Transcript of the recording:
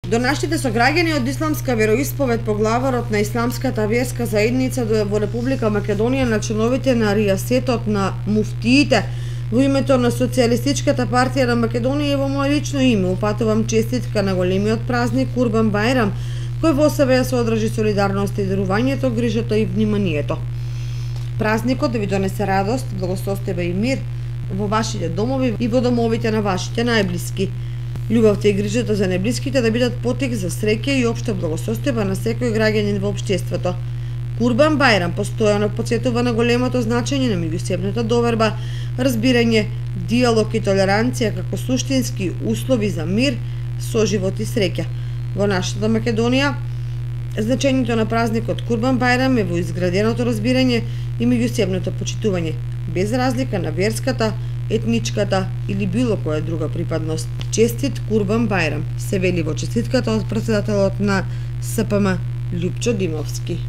До нашите сограѓани од исламска вероисповед поглаварот на исламската верска заедница во Република Македонија на членовите на ријасетот на муфтиите во името на Социјалистичката партија на Македонија и во моје лично име упатувам честитка на големиот празник Курбан Бајрам, кој во себе се одржи солидарност и дарувањето, грижата и вниманието. Празникот да ви донесе радост, благосостојба и мир во вашите домови и во домовите на вашите најблиски. Љубовта и грижата за најблиските да бидат потек за среќа и општа благосостојба на секој граѓанин во општеството. Курбан Бајрам постојано потсетува на големото значење на меѓусебната доверба, разбирање, диалог и толеранција како суштински услови за мир, соживот и среќа. Во нашата Македонија, значењето на празникот Курбан Бајрам е во изграденото разбирање и меѓусебното почитување, без разлика на верската, етничката или било која друга припадност. Честит Курбан Бајрам, се вели во честитката од претседателот на СПМ Љупчо Димовски.